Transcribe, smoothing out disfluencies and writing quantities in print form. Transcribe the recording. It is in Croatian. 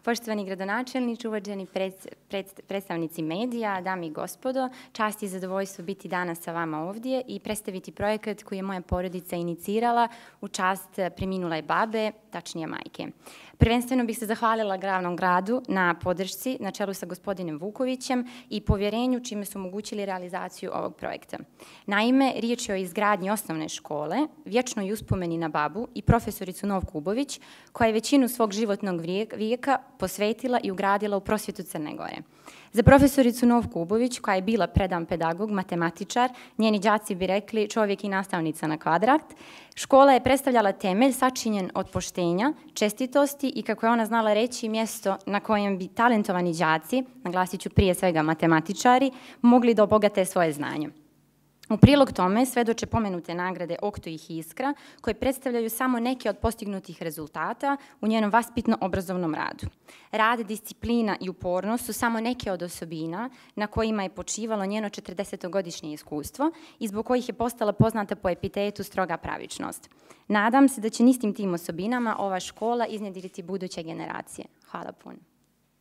Poštovani gradonačelniče, uvaženi predstavnici medija, dame i gospodo, čast i zadovoljstvo biti danas sa vama ovdje i predstaviti projekat koji je moja porodica inicirala u čast preminule babe, tačnije majke. Prvenstveno bih se zahvalila glavnom gradu na podršci na čelu sa gospodinom Vukovićem i povjerenju čime su omogućili realizaciju ovog projekta. Naime, riječ je o izgradnji osnovne škole, vječnoj uspomeni na babu i profesoricu Novku Ubović, koja je većinu svog životnog vijeka posvetila i ugradila u prosvjetu Crne Gore. Za profesoricu Novku Ubović, koja je bila predan pedagog, matematičar, njeni đaci bi rekli čovjek i nastavnica na kvadrat, škola je predstavljala temelj sačinjen od poštenja, čestitosti i, kako je ona znala reći, mjesto na kojem bi talentovani đaci, naglasit ću prije svega matematičari, mogli da obogate svoje znanje. U prilog tome svedoče pomenute nagrade Okto i Iskra, koje predstavljaju samo neke od postignutih rezultata u njenom vaspitno-obrazovnom radu. Rad, disciplina i upornost su samo neke od osobina na kojima je počivalo njeno 40-godišnje iskustvo i zbog kojih je postala poznata po epitetu stroga pravičnost. Nadam se da će istim tim osobinama ova škola iznjedriti buduće generacije. Hvala puno.